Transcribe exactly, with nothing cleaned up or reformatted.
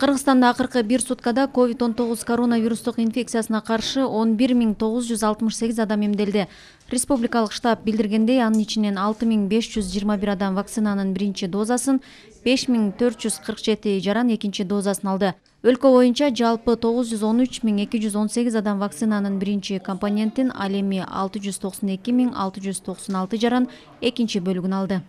Кыргызстанда акыркы бир суткада ковид он тогуз коронавирустук инфекциясына каршы он бир миң тогуз жүз алтымыш сегиз адам эмделди. Республикалык штаб билдиргендей, анын ичинен алты миң беш жүз жыйырма бир адам вакцинанын биринчи дозасын, беш миң төрт жүз кырк жети жаран экинчи дозасын алды. Өлкө боюнча жалпы тогуз жүз он үч миң эки жүз он сегиз адам вакцинанын биринчи компонентин, ал эми алты жүз токсон эки миң алты жүз токсон алты жаран экинчи бөлүгүн алды.